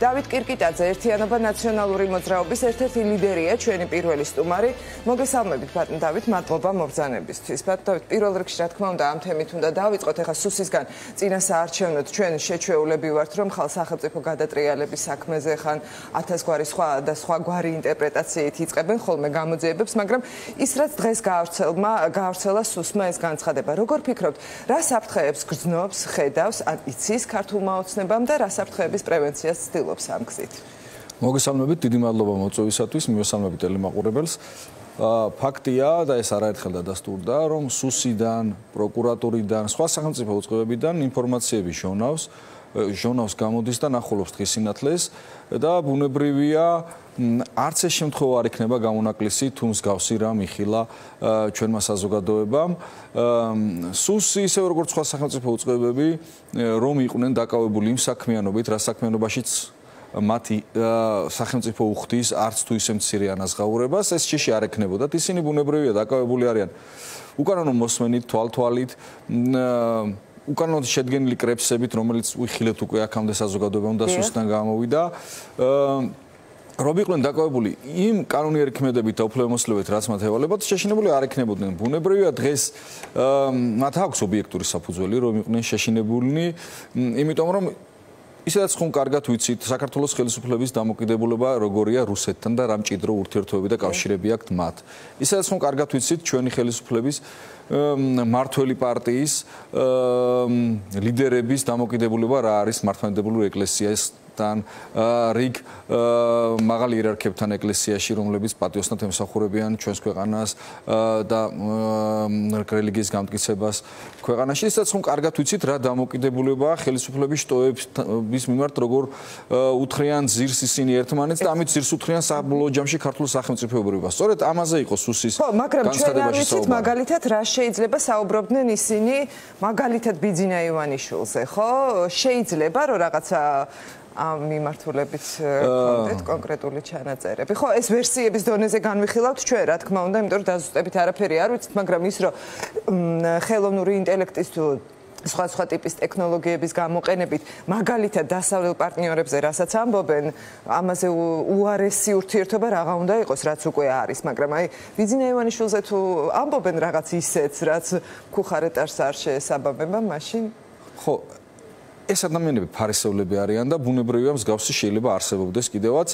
დავით კირკიტაძე, ერთიანობა ნაციონალური მოძრაობის ერთ-ერთი ლიდერია, ჩვენი პირველი სტუმარი. მოგესალმებით, ბატონ დავით, მადლობა მობრძანებისთვის. ბატონ დავით, პირველ რიგში რა თქმა უნდა, ამ თემით უნდა დავიწყოთ. ეხლა სუსისგან წინასაარჩევნოდ ჩვენ შეჩვეულები ვართ, რომ ხალ სახელმწიფო გადატრიალების საქმეზე ხან 1000 გვარი სხვა და სხვა გვარი ინტერპრეტაციით იწყებენ ხოლმე გამოძიებებს, მაგრამ ის რაც დღეს გაავრცელა სუსმა ეს განცხადება. როგორ ფიქრობთ, რა საფრთხეებს გრძნობს, ხედავს, ან იცის ქართულმა ოცნებამ და რა საფრთხეების პრევენციას ცდილობს ამ გზით? მოგესალმებით, დიდი მადლობა მოწვევისათვის, მივესალმებით ტელემაყურებელს. ფაქტია და ეს არაერთხელ დადასტურდა, რომ სუსიდან, პროკურატურიდან, სხვა სახელმწიფო უწყებებიდან ინფორმაციები ჟონავს გამოდის და ნახულობს დღის სინათლეს და ბუნებრივია არც ეს შემთხვევა არ იქნება გამონაკლისი თუ მსგავსი რამ იხილა ჩვენმა საზოგადოებამ. სუსი ისევე როგორც სხვა სახელმწიფო უწყებები რომ იყვნენ დაკავებული იმ საქმიანობით, რა საქმიანობაშიც მათი სახელმწიფო უხდის არც თუ ისე მცირე ანაზღაურებას, ეს ჭიში არ ექნებოდათ. ისინი ბუნებრივია დაკავებული არიან უკანონო მოსმენით, თვალთვალით, უკანონოდ შედგენილი კრებსებით, რომელიც უხილეთ უკვე აქამდე საზოგადოებამ და სუსთან გამოვიდა. რომ იყვნენ დაკავებული იმ კანონიერი ქმედებით და უფლებამოსილებით, რაც მათ ევალებათ, შეშინებული არ ექნებოდნენ. ბუნებრივია დღეს მათ აქვს ობიექტური საფუძველი, რომ იყვნენ შეშინებულნი, იმიტომ რომ ისედაც ხომ კარგად ვიცით, საქართველოს ხელისუფლების დამოკიდებულება როგორია რუსეთთან და რა მჭიდრო ურთიერთობები და კავშირები აქვთ მათ. ისედაც ხომ კარგად ვიცით, ჩვენი ხელისუფლების მართველი პარტიის ლიდერების დამოკიდებულება რა არის მართლმადიდებლური ეკლესიასთან, რიგ მაღალი იერარქებთან ეკლესიაში, რომლებიც პატიოსნად ემსახურებიან ჩვენს ქვეყანას და რელიგიის გამტკიცებას ქვეყანაში. ისაც ხომ კარგად ვიცით, რა დამოკიდებულებაა ხელისუფლების შტოების მიმართ, როგორ უთხრიან ძირს ისინი ერთმანეთს და ამით ძირს უთხრიან საბოლოო ჯამში ქართულ სახელმწიფოებრიობას. სწორედ ამაზე იყო სუსის განცხადებაში საუბარი. მაგალითად რა შეიძლება საუბრობდნენ ისინი მაგალითად ბიძინა ივანიშვილზე, ხო? შეიძლება რომ რაღაცა ამ მიმართულებით კონკრეტ კონკრეტული ჩანაწერები. ხო, ეს ვერსიების დონეზე განვიხილავთ ჩვენ, რა თქმა უნდა, იმიტომ რომ დაზუსტებით არაფერი არ ვიცით, მაგრამ ის რომ ხელოვნური ინტელექტის თუ სხვა ტიპის ტექნოლოგიების გამოყენებით მაგალითად დასავლელ პარტნიორებზე რასაც ამბობენ, ამაზე უარესი ურთიერთობა რაღა უნდა იყოს, რაც უკვე არის, მაგრამ აი ბიძინა ივანიშვილზე თუ ამბობენ რაღაც ისეთს, რაც ქუხარეტარს არ შეესაბამება, მაშინ ხო ეს ადამიანები ფარისევლები არიან და ბუნებრივია მსგავსი შეიძლება არსებობდეს კიდევაც.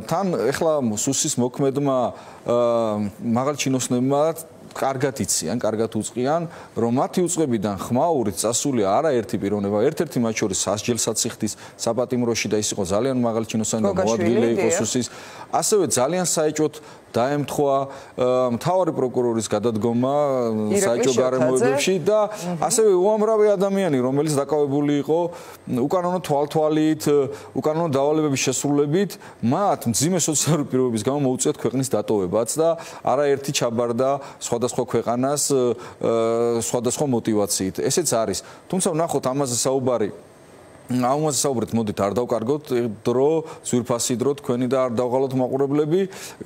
თან ეხლა სუსის მოქმედმა მაღალ ჩინოსნებმა კარგად იციან, კარგად უწყიან, რომ მათი უწყებიდან ხმაურით წასული არაერთი პიროვნება, ერთ-ერთი მათ შორის სასჯელსაციხდის საპატიმროში და ის იყო ძალიან მაღალი ჩინოსანი და მოადგილე იყო სუსის. ასევე ძალიან საეჭვოდ დაემთხვა მთავარი პროკურორის გადადგომა საეჭვო გარემოებებში და ასევე უამრავი ადამიანი, რომელიც დაკავებული იყო უკანონო თვალთვალით, უკანონო დავალებების შესრულებით, მათ მძიმე სოციალური პირობების გამო მოუწიათ ქვეყნის დატოვებაც და არაერთი ჩაბარდა სხვადასხვა ქვეყანას სხვადასხვა მოტივაციით. ესეც არის. თუმცა ვნახოთ ამაზე საუბრით, მოდით არ დავკარგოთ დრო, ძვირფასი დრო თქვენი და არ დავღალოთ მაყურებლები.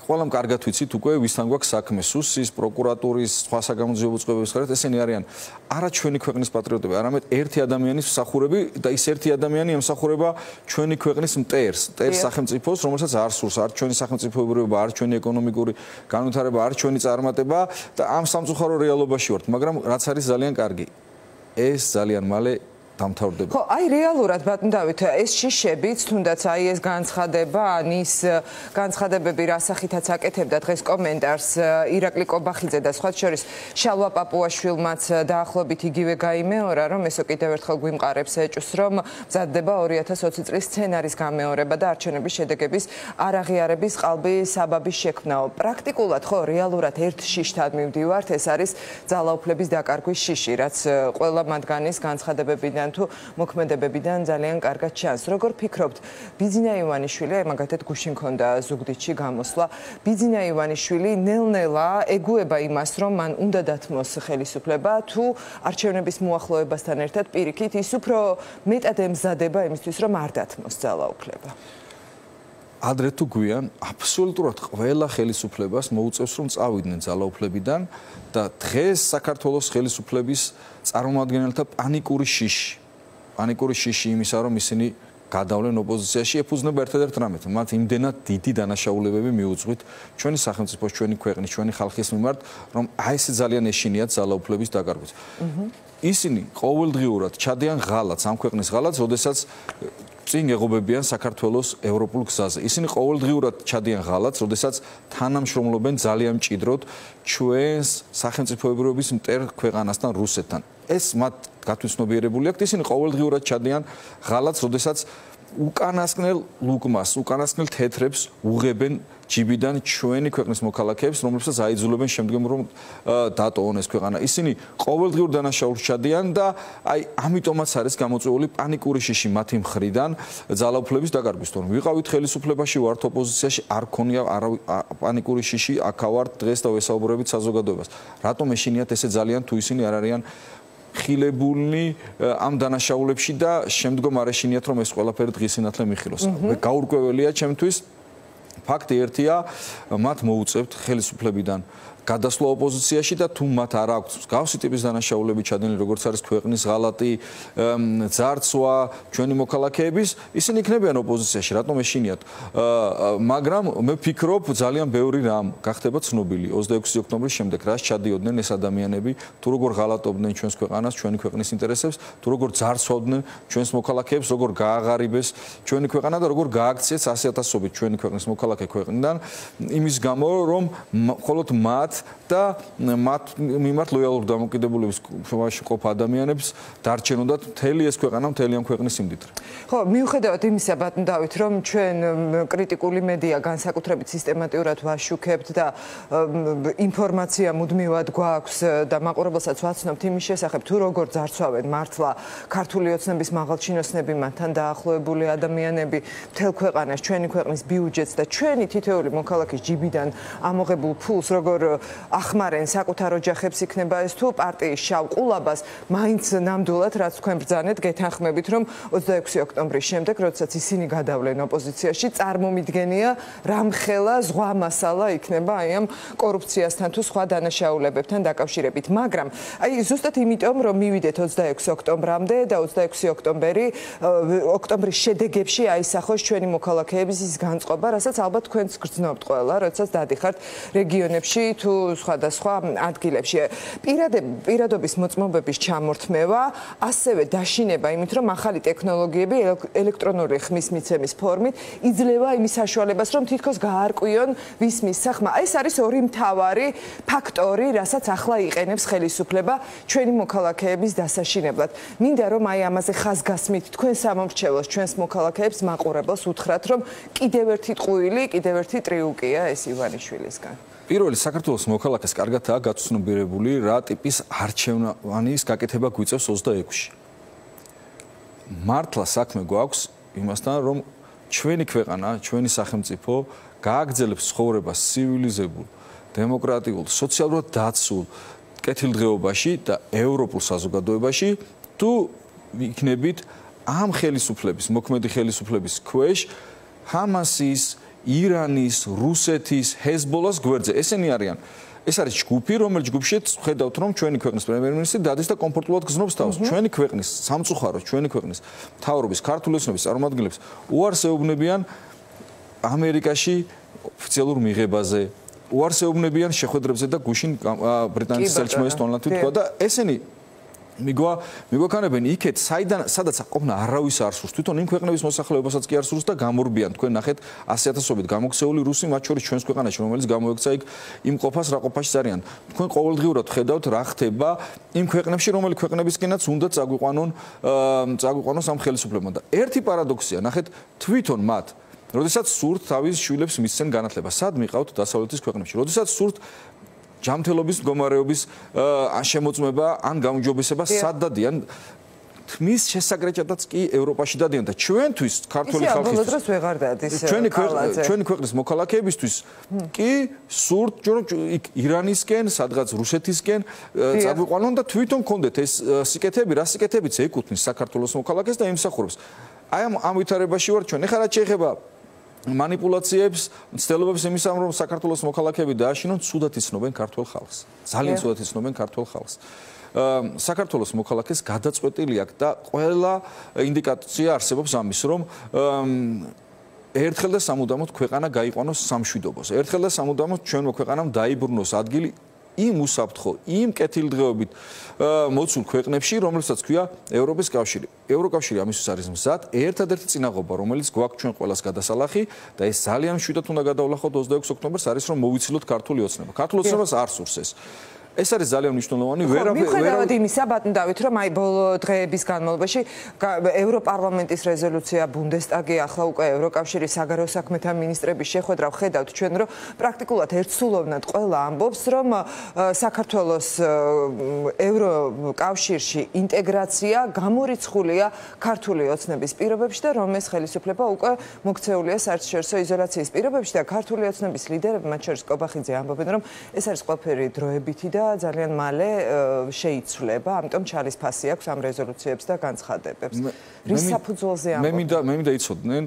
ყველამ კარგად ვიცით უკვე ვისთან გვაქვს საქმე, სუსის, პროკურატურის, სხვა საგამოძიებო უწყებების ხარეთ, ესენი არიან არა ჩვენი ქვეყნის პატრიოტები, არამედ ერთი ადამიანის მსახურები და ის ერთი ადამიანი ემსახურება ჩვენი ქვეყნის მტერს სახელმწიფოს, რომელსაც არ სურს არ ჩვენი სახელმწიფოებრიობა, არ ჩვენი ეკონომიკური განვითარება, არ ჩვენი წარმატება და ამ სამწუხარო რეალობაში ვართ, მაგრამ რაც არის ძალიან კარგი, ეს ძალიან მალე დამთავრდება. ხო, აი რეალურად ბატონ დავით, ეს შიშებიც, თუნდაც აი ეს განცხადება, ან ის განცხადებები რასახითაც აკეთებდა დღეს კომენტარს ირაკლი კობახიძე და სხვა შორის შალვა პაპუაშვილმაც დაახლოებით იგივე გაიმეორა, რომ ესო კიდევ ერთხელ გვიმყარებს ეჭვს, რომ მზადდება 2020 წლის სცენარის გამეორება და არჩევნების შედეგების არაღიარების ყალბი საბაბის შექმნაო. პრაქტიკულად ხო, რეალურად ერთ შიშთან მივდივართ, ეს არის ძალაუფლების დაკარგვის შიში, რაც ყველა მათგანის განცხადებებიდან თუ მოქმედებებიდან ძალიან კარგად ჩანს. როგორ ფიქრობთ, ბიძინა ივანიშვილი, აი მაგათად გუშინ ქონდა ზუგდიდში გამოსვლა, ბიძინა ივანიშვილი ნელ-ნელა ეგუება იმას, რომ მან უნდა დათმოს ხელისუფლება, თუ არჩევნების მოახლოებასთან ერთად პირიქით ის უფრო მეტად ემზადება იმისთვის, რომ არ დათმოს ძალაუფლება? ადრე თუ გვიან, აბსოლუტურად ყველა ხელისუფლებას მოუწევს, რომ წავიდნენ ძალაუფლებიდან და დღეს საქართველოს ხელისუფლების წარმომადგენელთა პანიკური შიში იმისა, რომ ისინი გადავლენ ოპოზიციაში, ეფუძნება ერთადერთ რამეთ. მათ იმდენად დიდი დანაშაულებები მიუძღვით ჩვენი სახელმწიფოს, ჩვენი ქვეყნის, ჩვენი ხალხის მიმართ, რომ აი ესე ძალიან ეშინიათ ძალაუფლების დაკარგვით. ისინი ყოველდღიურად ჩადიან ღალატს, ამ ქვეყნის ღალატს, როდესაც წინ ეღობებიან საქართველოს ევროპულ გზაზე. ისინი ყოველდღიურად ჩადიან ღალატს, როდესაც თანამშრომლობენ ძალიან მჭიდროდ ჩვენს სახელმწიფოებრიობის მტერ ქვეყანასთან, რუსეთთან. ეს მათ გათვითცნობიერებული აქვთ, ისინი ყოველდღიურად ჩადიან ღალატს, როდესაც უკანასკნელ ლუკმას, უკანასკნელ თეთრებს უღებენ ჯიბიდან ჩვენი ქვეყნის მოქალაქეებს, რომლებსაც აიძულებენ შემდგომ რომ დატოვონ ეს ქვეყანა. ისინი ყოველდღიურ დანაშაულს ჩადიან და აი ამიტომაც არის გამოწვეული პანიკური შიში მათი მხრიდან ძალაუფლების დაკარგვის. თორემ ვიყავით ხელისუფლებაში, ვართ ოპოზიციაში, არ ქონია პანიკური შიში, აქა ვართ დღეს და ვესაუბრებით საზოგადოებას. რატომ ეშინიათ ესე ძალიან თუ ისინი არ არიან ხილებულნი ამ დანაშაულებში და შემდგომ არ ეშინიათ რომ ეს ყველაფერი დღის სინათლე მიხილოს. გაურკვეველია ჩემთვის ფაქტი ერთია, მათ მოუწევთ ხელისუფლებიდან გადასვლა ოპოზიციაში და თუ მათ არ აქვს მსგავსი ტიპის დანაშაულები ჩადენილი, როგორც არის ქვეყნის ღალატი, ძარცვა, ჩვენი მოქალაქეების, ისინი იქნებიან ოპოზიციაში, რატომ ეშინიათ? მაგრამ მე ვფიქრობ, ძალიან ბევრი რამ გახდება ცნობილი 26 ოქტომბრის შემდეგ, რაც ჩადიოდნენ ეს ადამიანები, თუ როგორ ღალატობდნენ ჩვენს ქვეყანას, ჩვენი ქვეყნის ინტერესებს, თუ როგორ ძარცვავდნენ ჩვენს მოქალაქეებს, როგორ გააღარიბეს ჩვენი ქვეყანა და როგორ გააქციეს 100,000-ობით ჩვენი ქვეყნის მოქალაქე ქვეყნიდან, იმის გამო, რომ მხოლოდ მათ და მათ მიმართ ლოიალურ დამოკიდებულების შემოში ყოფ ადამიანებს დარჩენოდათ მთელი ეს ქვეყანა, მთელი ამ ქვეყნის სიმდიდრე. ხო, მიუხედავად იმისა, ბატონ დავით, რომ ჩვენ კრიტიკული მედია განსაკუთრებით სისტემატურად ვაშუქებთ და ინფორმაცია მუდმივად გვაქვს და მაყურებელსაც ვაცნობთ იმის შესახებ, თუ როგორ ძარცვავენ მართლა ქართული ოცნების მაღალჩინოსნები, მათთან დაახლოებული ადამიანები მთელ ქვეყანას, ჩვენი ქვეყნის ბიუჯეტს და ჩვენი თითოეული მოქალაქის ჯიბიდან ამოღებულ ფულს როგორ ახმარენ საკუთარ ოჯახებს, იქნება ეს თუ პარტიის შავ ყულაბას, მაინც ნამდვილად რაც თქვენ ბრძანეთ, გეთანხმებით, რომ 26 ოქტომბრის შემდეგ, როდესაც ისინი გადავლენ ოპოზიციაში, წარმომიდგენია რამხელა ზღვა მასალა იქნება აი ამ კორუფციასთან თუ სხვა დანაშაულებებთან დაკავშირებით. მაგრამ აი ზუსტად იმიტომ, რომ მივიდეთ 26 ოქტომბრამდე და 26 ოქტომბრის შედეგებში აისახოს ჩვენი მოქალაქეების ის განწყობა, რასაც ალბათ თქვენც გრძნობთ ყველა, როდესაც დადიხართ რეგიონებში თუ სხვადასხვა ადგილებში. პირადობის მოწმობების ჩამორთმევა, ასევე დაშინება იმით, რომ ახალი ტექნოლოგიები ელექტრონული ხმის მიცემის ფორმით იძლევა იმის საშუალებას, რომ თითქოს გაარკვიონ ვის მისცა ხმა. ეს არის ორი მთავარი ფაქტორი, რასაც ახლა იყენებს ხელისუფლება ჩვენი მოქალაქეების დასაშინებლად. მინდა რომ აი ამაზე ხაზგასმით თქვენ სამომრჩევლოს, ჩვენს მოქალაქეებს მაყურებელს უთხრათ, რომ კიდევ ერთი ტყუილი, კიდევ ერთი ტრიუკია ეს ივანიშვილისგან. პირველი საქართველოს მოქალაქეს კარგადაა გაცნობიერებული რა ტიპის არჩევანის გაკეთება გვიწევს 26-ში. მართლა საქმე გვაქვს იმასთან, რომ ჩვენი ქვეყანა, ჩვენი სახელმწიფო გააგრძელებს ცხოვრებას ცივილიზებულ, დემოკრატიულ, სოციალურად დაცულ კეთილდღეობაში და ევროპულ საზოგადოებაში, თუ იქნებით ამ ხელისუფლების, მოქმედი ხელისუფლების ქვეშ ჰამასის, ირანის, რუსეთის, ჰეზბოლას გვერდზე. ესენი არიან. ეს არის ჯგუფი, რომელიც ჯგუფშიც ხედავთ, რომ ჩვენი ქვეყნის პრემიერ-მინისტრი დადის და კომფორტულად გრძნობს თავს. ჩვენი ქვეყნის სამწუხაროდ, ჩვენი ქვეყნის მთავრობის, ქართული ოცნების წარმომადგენლებს უარს ეუბნებიან ამერიკაში ოფიციალურ მიღებაზე, უარს ეუბნებიან შეხვედრებზე და გუშინ ბრიტანეთის საელჩომელის ტონლათი თქვა და ესენი მიგვაქანებენ იქეთ, სადაც ყოფნა არავის არ სურს. თვითონ იმ ქვეყნების მოსახლეობასაც კი არ სურს და გამორბიან. თქვენ ნახეთ 100,000-ობით გამოქცეული რუსი, მათ შორის ჩვენს ქვეყანაში, რომელიც გამოექცა იქ იმ ყოფას, რა ყოფაში არიან. თქვენ ყოველდღიურად ხედავთ რა ხდება იმ ქვეყნებში, რომელი ქვეყნებისკენაც უნდა წაგვიყვანოს ამ ხელისუფლებამ. და ერთი პარადოქსია, ნახეთ, თვითონ მათ როდესაც სურთ თავის შვილებს მისცენ განათლება, სად მიყავთ დასავლეთის ქვეყნებში? როდესაც სურთ ჯანმრთელობის მდგომარეობის შემოწმება ან გაუმჯობესება სად დადიან? თმის შესაგრეჭადაც კი ევროპაში დადიან და ჩვენთვის ქართული ხალხისთვის ჩვენი ქვეყნის მოქალაქეებისთვის კი სურთ რომ ირანისკენ, სადღაც რუსეთისკენ წაგვიყვანონ და თვითონ კონდეთ ეს სიკეთები, რა სიკეთებიც ეკუთვნის საქართველოს მოქალაქეს და იმსახურებს. აი ამ ვითარებაში ვარ ჩვენ. ეხლა რაც შეეხება манипуляციებს, ცდილობებს იმისამ, რომ საქართველოს მოქალაქეები დააშინონ, ცუდად იცნობენ ქართულ ხალხს. ძალიან ცუდად იცნობენ ქართულ ხალხს. საქართველოს მოქალაქეს გადაწყვეტილი აქვს და ყველა ინდიკაცია არსებობს ამის, რომ ერთხელ და სამუდამოდ ქვეყანა გაიყვანოს სამშვიდობოს. ერთხელ და სამუდამოდ ჩვენმა ქვეყანამ დაიბრუნოს ადგილი იმ უსაფრთხო, იმ კეთილდღეობით მოცულ ქვეყნებში, რომელსაც ქვია ევროპის კავშირი. ევროკავშირი ამისთვის არის მზად, ერთადერთი წინაღობა, რომელიც გვაქვს ჩვენ ყველას გადასალახი და ეს ძალიან მშვიდად უნდა გადავლახოთ 26 ოქტომბერს, არის რომ მოვიცილოთ ქართული ოცნება. ქართული ოცნებას არ სურს ეს. ეს არის ძალიან მნიშვნელოვანი. მიუხედავად იმისა, ბატონ დავით, რომ აი ბოლო დღეების განმავლობაში ევროპარლამენტის რეზოლუცია, ბუნდესტაგი, ახლა უკვე ევროკავშირის საგარეო საქმეთა მინისტრების შეხვედრა ვხედავთ ჩვენ, რომ პრაქტიკულად ერთსულოვნად ყველა ამბობს, რომ საქართველოს ევროკავშირში ინტეგრაცია გამორიცხულია ქართული ოცნების პირობებში და რომ ეს ხელისუფლება უკვე მოქცეულია საერთაშორისო იზოლაციის პირობებში და ქართული ოცნების ლიდერები, მათ შორის კობახიძე ამბობენ, რომ ეს არის ყველაფერი დროებითი და ძალიან მალე შეიცვლება, ამიტომ ჩალის ფასი აქვს ამ რეზოლუციებს და განცხადებებს. რის საფუძველზე ამბობენ? მე მინდა იცოდნენ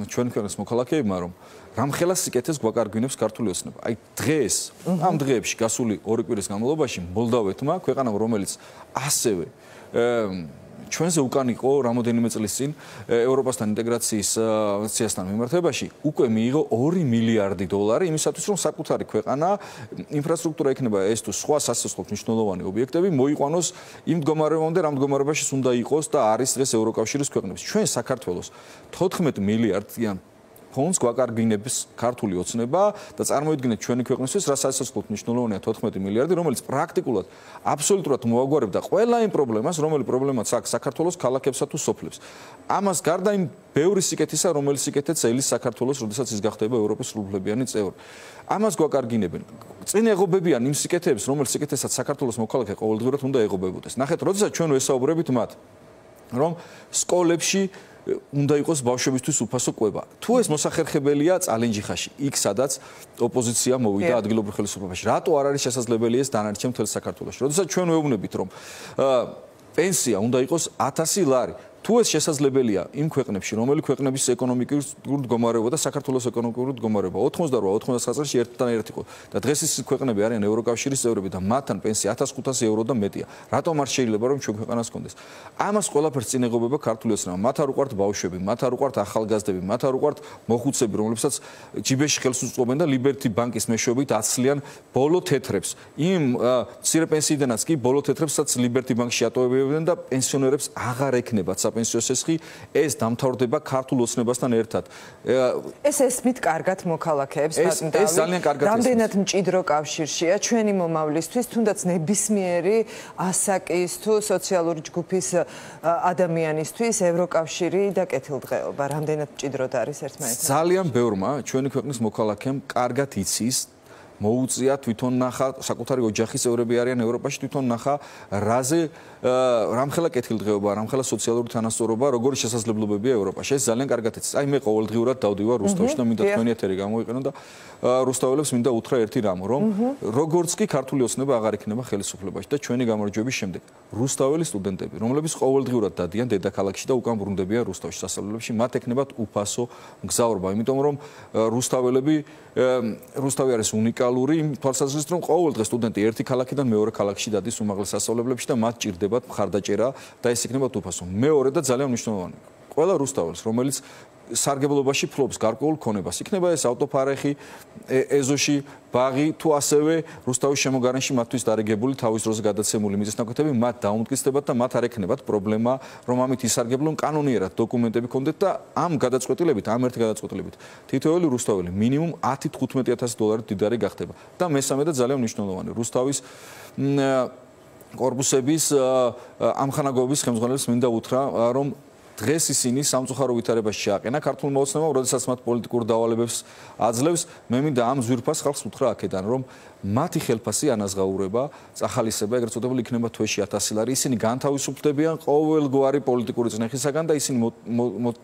ჩვენი ქვეყნის მოქალაქეებმა, რომ რამხელა სიკეთეს გვაკარგვინებს ქართული ოცნება. აი დღეს, ამ დღეებში გასული 2 კვირის განმავლობაში მოლდავეთმა, ქვეყანამ, რომელიც ასევე ჩვენზე უკან იყო რამოდენიმე წლის წინ ევროპასთან ინტეგრაციის აქციასთან მიმართებაში უკვე მიიღო 2 მილიარდი დოლარი იმისათვის რომ საკუთარი ქვეყანა ინფრასტრუქტურა ექნება ეს თუ სხვა სასწავლო მნიშვნელოვანი ობიექტები მოიყვანოს იმ მდგომარეობამდე რამ მდგომარეობაში უნდა იყოს და არის დღეს ევროკავშირის ქვეყნების ჩვენ საქართველოს 14 მილიარდიან ფონდს გვაკარგვინებს ქართული ოცნება და წარმოიდგინეთ ჩვენი ქვეყნისთვის რა სასწაულოდ მნიშვნელოვანია 14 მილიარდი რომელიც პრაქტიკულად აბსოლუტურად მოაგვარებდა ყველა იმ პრობლემას რომელიც პრობლემაც აქვს საქართველოს ქალაქებსა თუ სოფლებს ამას გარდა იმ ბევრი სიკეთისა რომელიც სიკეთეც ელის საქართველოს როდესაც ის გახდება ევროპის სრულუფლებიანი წევრი ამას გვაკარგვინებენ წინ ეღობებიან იმ სიკეთეებს რომელიც სიკეთესაც საქართველოს მოქალაქე ყოველდღურად უნდა ეღობებოდეს ნახეთ როდესაც ჩვენ ვესაუბრებით მათ რომ სკოლებში უნდა იყოს ბავშვებისთვის უფასო კვება. თუ ეს მოსახერხებელია წალენჯიხაში, იქ სადაც ოპოზიცია მოვიდა ადგილობრივ ხელისუფლებაში. რატო არ არის შესაძლებელი ეს დანარჩენ მთელ საქართველოში? როდესაც ჩვენ ვეუბნებით რომ პენსია უნდა იყოს 1000 ლარი. თუ ეს შესაძლებელია იმ ქვეყნებში, რომელი ქვეყნების ეკონომიკური მდგომარეობა და საქართველოს ეკონომიკური მდგომარეობა 88-99 წელს ერთთან ერთ იყო და დღეს ის ქვეყნები არიან ევროკავშირის წევრები და მათთან პენსია 1500 ევრო და მეტია. რატომ არ შეიძლება რომ ჩვენ ქვეყანას გქონდეს? ამას ყველაფერს წინეგობება ქართული ოცნება. მათ არ უყვართ ბავშვები, მათ არ უყვართ ახალგაზრდები, მათ არ უყვართ მოხუცები, რომლებსაც ჯიბეში ხელს უწყობენ და ლიბერტი ბანკის მეშვეობით აცლიან ბოლო თეთრებს. იმ მცირე პენსიიდანაც კი ბოლო თეთრებსაც ლიბერტი ბანკში ატოვებენ და პენსიონერებს აღარ ექნებათ პენსიო სესხი ეს დამთავრდება ქართულ ოცნებასთან ერთად. ეს ესმით კარგად მოქალაქეებს ბატონ დავით. ეს ძალიან კარგად ესმით. რამდენად მჭიდრო კავშირშია ჩვენი მომავლისთვის, თუნდაც ნებისმიერი ასაკის თუ სოციალური ჯგუფის ადამიანისთვის ევროკავშირი და კეთილდღეობა. რამდენად მჭიდროდ არის ერთმანეთთან? ძალიან ბევრმა ჩვენი ქვეყნის მოქალაქემ კარგად იცის მოუწია თვითონ ნახა საკუთარი ოჯახის წევრები არიან ევროპაში თვითონ ნახა რაზე რამხელა კეთილდღეობა რამხელა სოციალური თანასწორობა როგორი შესაძლებლობებია ევროპაში ეს ძალიან კარგად იცის აი მე ყოველდღიურად დავდივარ რუსთავში და მინდა თქვენი ეთერი გამოვიყენო და რუსთაველებს მინდა უთხრა ერთი რამ რომ როგორც კი ქართული ოცნება აღარ იქნება ხელისუფლებაში და ჩვენი გამარჯვების შემდეგ რუსთაველი სტუდენტები რომლებიც ყოველდღიურად დადიან დედაქალაქში და უკან ბრუნდებიან რუსთავში სასწავლებლებში მათ ექნებათ უფასო მგზავრობა იმიტომ რომ რუსთავი არის უნიკალური იმ თვალსაზრისით რომ ყოველდღე სტუდენტი ერთი ქალაქიდან მეორე ქალაქში დადის უმაღლეს სასწავლებლებში და მათ ჭირდებათ მხარდაჭერა და ეს იქნებათ უფასო. მეორე და ძალიან მნიშვნელოვანი. ყველა რუსთაველს, რომელიც სარგებლობაში ფლობს გარკვეულ ქონებას, იქნება ეს ავტოფარეხი, ეზოში, ბაღი თუ ასევე რუსთავის შემოგარენში მათთვის დარიგებული თავის დროზე გადაცემული მიწისნაკვეთები მათ დაუმტკიცდებათ და მათ არ ექნებათ პრობლემა, რომ ამით ისარგებლონ კანონიერად დოკუმენტები ქონდეთ და ამ გადაწყვეტილებით, ამ ერთი გადაწყვეტილებით თითოეული რუსთაველი მინიმუმ 10-15000 დოლარი დიდარი გახდება. და მესამე და ძალიან მნიშვნელოვანი, რუსთავის კორპუსების ამხანაგობის ხელმძღვანელებს მინდა უთხრა რომ დღეს ისინი სამწუხარო ვითარებაში შეაყენა ქართულმა ოცნებამ, როდესაც მათ პოლიტიკურ დავალებებს აძლევს, მე მინდა ამ ზვირფას ხალხს უთხრა აქედან, რომ მათი ხელფასი ანაზღაურება, წახალისება, ეგრეთ წოდებული იქნება თვეში 1000 ლარი. ისინი განთავისუფლდებიან ყოველგვარი პოლიტიკური წნეხისაგან და ისინი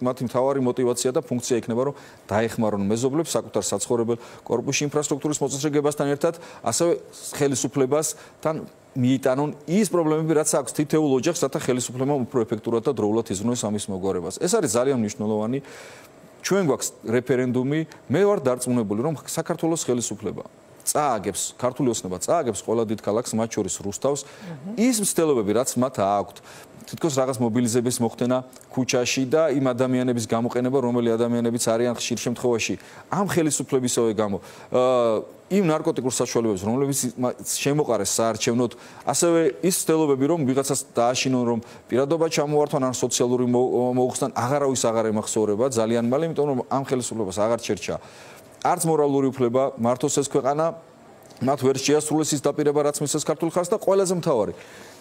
მათი მთავარი мотиваცია და ფუნქცია იქნება, რომ დაეხმარონ მეზობლებს საკუთარ საცხოვრებელ კორპუსში ინფრასტრუქტურის მოწესრიგებასთან ერთად, ასევე ხელისუფლებასთან მიიტანონ ის პრობლემები, რაც აქვს თითოეულ ოჯახს, რათა ხელისუფლებამ უფრო ეფექტურად და დროულად იზრუნოს ამის მოგვარებას. ეს არის ძალიან მნიშვნელოვანი. ჩვენ გვაქვს რეფერენდუმი, მე ვარ დარწმუნებული, რომ საქართველოს ხელისუფლება წააგებს, ქართული ოცნება წააგებს ყველა დიდ ქალაქს, მათ შორის რუსთავს, ის მცდელობები, რაც მათ აქვთ, თითქოს რაღაც მობილიზების მოხდენა ქუჩაში და იმ ადამიანების გამოყენება, რომელი ადამიანებიც არიან ხშირ შემთხვევაში ამ ხელისუფლებისავე გამო იმ ნარკოტიკულ საშუალებებს, რომლებიც შემოყარეს საარჩევნოდ, ასევე ის ცდილობები, რომ ვიღაცას დააშინონ, რომ პირადობა ჩამოართვან ან სოციალური მოუხსნან, აღარავის აღარ ემახსოვრება ძალიან მალე, იმიტომ რომ ამ ხელისუფლებას აღარ ჩერჩა არც მორალური უფლება, მართოს ეს ქვეყანა, მათ ვერ შეასრულეს ის დაპირება, რაც მისცეს ქართულ ხალხს და ყველაზე მთავარი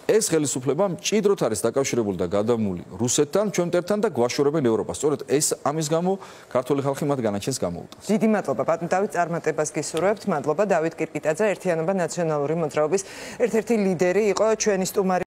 ეს ხელისუფლება მჭიდროდ არის დაკავშირებული და გადამული რუსეთთან, ჩვენთან და გვაშორებენ ევროპას. სწორედ ეს ამის გამო ქართული ხალხი მათ განაჩენს გამოუტანს. დიდი მადლობა პატონ დავით წარმატებას გისურვებთ. მადლობა დავით კირკიტაძე, ერთიანობა ნაციონალური მოძრაობის ერთ-ერთი ლიდერი იყო ჩვენი სტუმარი.